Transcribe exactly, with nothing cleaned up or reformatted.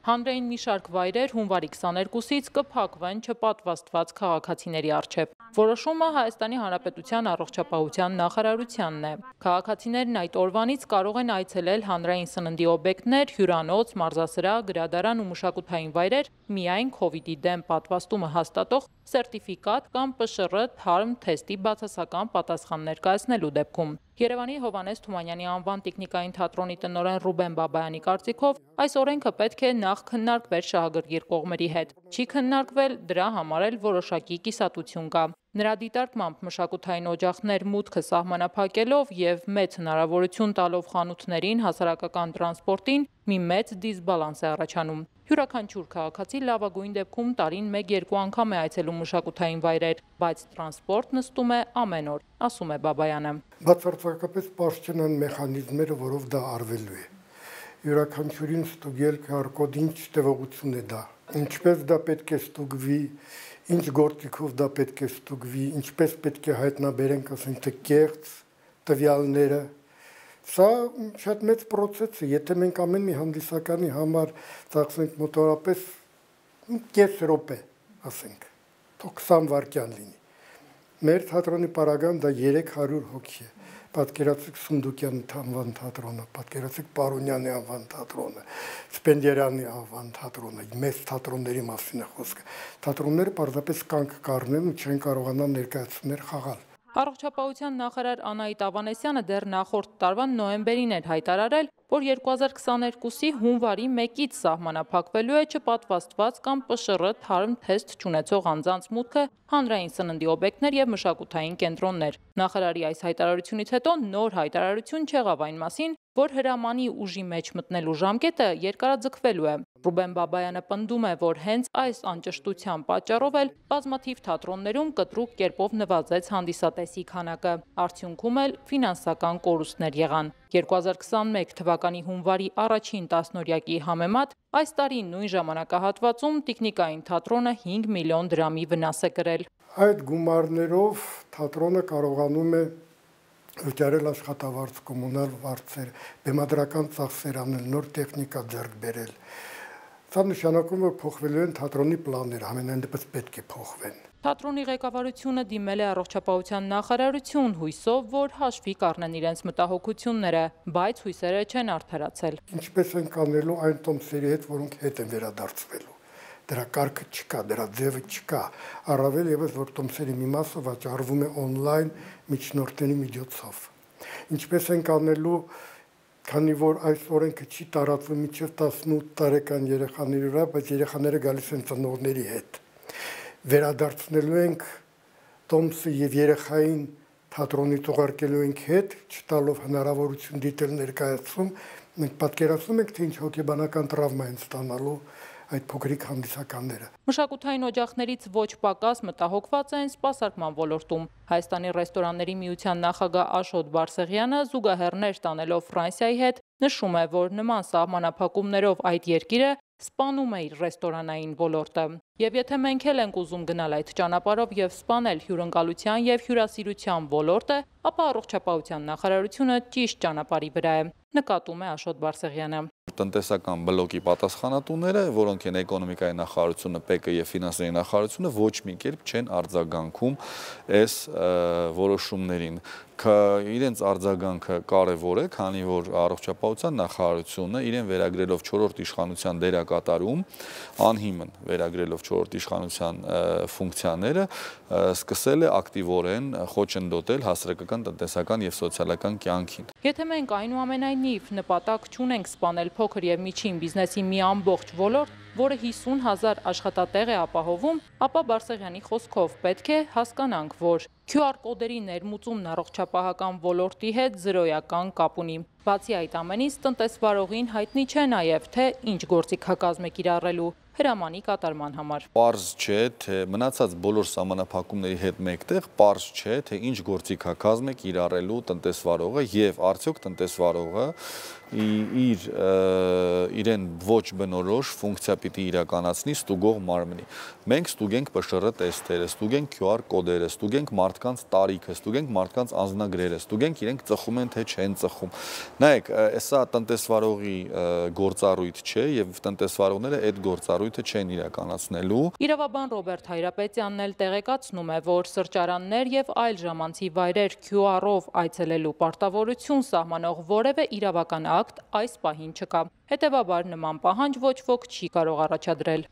Հանրային մի շարք վայրեր հունվարի քսաներկուսից կփակվեն չպատվաստված քաղաքացիների առջև։ Որոշումը Հայաստանի Հանրապետության առողջապահության նախարարությանն է։ Քաղաքացիներն այդ օրվանից կարող են այցելել հանրային սննդի օբյեկտներ, հյուրանոց, մարզասրահ, գրադարան ու մշակութային վայրեր միայն քովիդի դեմ պատվաստումը հաստատող սերտիֆիկատ կամ Պ Շ Ռ թարմ թեստի բացասական պատասխան ներկայացնելու դեպքում։ Երևանի Հովհաննես Թումանյանի անվան տեխնիկային թատրոնի տնօրեն Ռուբեն Բաբայանի կարծիքով այս օրենքը պետք է նախ քննարկվեր շահագրգիռ կողմերի հետ։ Չի քննարկվել, դրա համար էլ որոշակի կիսատություն կա։ Նրա դիտարկմամբ մշակութային օջախներ մուտքը սահմանափակելով եւ մեծ հնարավորություն տալով խանութներին, հասարակական տրանսպորտին մի մեծ դիսբալանս է առաջանում։ Յուրաքանչյուր քաղաքացի լավագույն դեպքում տարին մեկ-երկու անգամ է այցելում մշակութային վայրեր, բայց տրանսպորտ նստում է ամեն օր, ասում է Բաբայանը։ Բացարձակապես պարզ չեն մեխանիզմերը, որով դա արվելու է։ Յուրաքանչյուրին ստուգել քար-կոդ ինչ տևողություն է դա, ինչպես դա պետք է ստուգվի, ինչ գործիքով դա պետք է ստուգվի, ինչպես պետք է հայտնաբերենք, ասենք թե կեղծ տվյալները։ Սա շատ մեծ process է, եթե մենք ամեն մի հանդիսականի համար ծախսենք մոտավորապես կես րոպե, ասենք, թող քսան վայրկյան լինի։ Մեր թատրոնի պարագան դա երեք հարյուր հոգի է։ Պատկերացրեք Սունդուկյանի անվան թատրոնը, պատկերացրեք Պարոնյանի անվան թատրոնը, Սպենդիարյանի անվան թատրոնը, մեծ թատրոնների մասին է խոսքը։ Թատրոնները պարզապես կանգ կառնեն ու չեն կարողանա ներկայացումներ խաղալ։ Առողջապահության նախարար Անահիտ Ավանեսյանը դեռ նախորդ տարվա նոյեմբերին էր հայտարարել, որ երկու հազար քսաներկուսի հունվարի մեկից սահմանափակվելու է չպատվաստված կամ Պ Շ Ռ թարմ թեստ չունեցող անձանց մուտքը հանրային սննդի օբյեկտներ եւ մշակութային կենտրոններ։ Նախարարի այս հայտարարությունից հետո նոր հայտարարություն չեղավ այն մասին, որ հրամանի ուժի մեջ մտնելու ժամկետը երկարաձգվելու է։ Ռուբեն Բաբայանը պնդում է, որ հենց այս անճշտության պատճառով էլ բազմաթիվ թատրոններում կտրուկ կերպով նվազեց հանդիսատեսի քանակը, արդյունքում էլ ֆինանսական կորուստներ եղան։ երկու հազար քսանմեկ թվականի հունվարի առաջին տասնօրյակի համեմատ այս տարի նույն ժամանակահատվածում տեխնիկային թատրոնը հինգ միլիոն դրամի վնաս է կրել։ Այդ գումարներով թատրոնը կարողանում է վճարել աշխատավարձ, կոմունալ վարձեր, բեմադրական ծախսեր անել, նոր տեխնիկա ձեռք բերել։ Սա նշանակում է, որ փոխվելու են թատրոնի պլանները, ամենայն դեպս պետք է փոխվեն։ Թատրոնի ղեկավարությունը դիմել է առողջապահության նախարարություն հույսով, որ հաշվի կառնեն իրենց մտահոգությունները, բայց հույսերը չեն արդարացել։ Ինչպես են կանելու այն տոմսերի հետ, որոնք հետ են վերադարձվելու։ Դրա կարգը չկա, դրա ձևը չկա, առավել ևս որ տոմսերի մի մասը վաճառվում է օնլայն միջնորդների միջոցով։ Ինչպես են կանելու, քանի որ այս օրենքը չի տարածվում մինչև տասնութ տարեկան երեխաների վրա, բայց երեխաները գալիս են ծնողների հետ։ Վերադարձնելու ենք տոմսը եւ երեխային թատրոնի թողարկելու ենք հետ, չտալով հնարավորություն դիտել ներկայացում, մենք պատկերացնում ենք, թե ինչ հոգեբանական տրավմա են ստանալու այդ փոքրիկ հանդիսականները։ Մշակութային օջախներից ոչ պակաս մտահոգված են սպասարկման ոլորտում։ Հայաստանի ռեստորանների միության նախագահ Աշոտ Բարսեղյանը զուգահեռներ տանելով Ֆրանսիայի հետ նշում է, որ նման սահմանափակումներով այդ երկիրը սպանում է իր ռեստորանային ոլորտը։ Եվ եթե մենք էլ ենք ուզում գնալ այդ ճանապարհով եւ սպանել հյուրընկալության եւ հյուրասիրության ոլորտը, ապա առողջապահության նախարարությունը ճիշտ ճանապարհի վրա է, նկատում է Աշոտ Բարսեղյանը։ Տնտեսական բլոկի պատասխանատուները, որոնք են էկոնոմիկայի նախարարությունը, Պ Կ եւ ֆինանսների նախարարությունը, ոչ մի կերպ չեն արձագանքում այս որոշումներին։ Իրենց արձագանքը կարևոր է, քանի որ առողջապահության նախարարությունը իրեն վերագրելով չորրորդ իշխանության դերակատարում, անհիմն վերագրելով չորրորդ իշխանության ֆունկցիաները, սկսել է ակտիվորեն խոչընդոտել հասարակական, տնտեսական եւ սոցիալական կյանքին։ Եթե մենք այնուամենայնիվ նպատակ չունենք սպանել փոքր եւ միջին բիզնեսի մի ամբողջ ոլորտ, որը հիսուն հազար աշխատատեղ է ապահովում, ապա Բարսեղյանի խոսքով պետք է հասկանանք, որ Q R կոդերի ներմուծումն առողջապահական ոլորտի հետ զրոյական կապ ունի։ Բացի այդ ամենից, տնտեսվարողին հայտնի չէ նաև, թե ինչ գործիքակազմ է կիրառելու հրամանի կատարման համար։ Պարզ չէ, թե մնացած բոլոր սահմանափակումների հետ մեկտեղ պարզ չէ, թե ինչ գործիքակազմ է կիրառելու տնտեսվարողը եւ արդյոք տնտեսվարողը իր իրեն ոչ բնորոշ ֆունկցիա պիտի իրականացնի ստուգող մարմնի։ Մենք ստուգենք P Š R տեստերը, ստուգենք Q R կոդերը, ստուգենք մարդկանց տարիքը, ստուգենք մարդկանց անձնագրերը, ստուգենք իրենք ծխում են թե չեն ծխում։ Նայեք, սա տնտեսվարողի գործառույթ չէ եւ տնտեսվարողները այդ գործառույթը չեն իրականացնելու։ Իրավաբան Ռոբերտ Հայրապետյանն էլ տեղեկացնում է, որ սրճարաններ եւ այլ ժամանցի վայրեր Q R-ով այցելելու պարտավորություն սահմանող որևէ իրավական ակտ այս պահին չկա։ Հետևաբար նման պահանջ ոչ ոք չի կարող առաջադրել։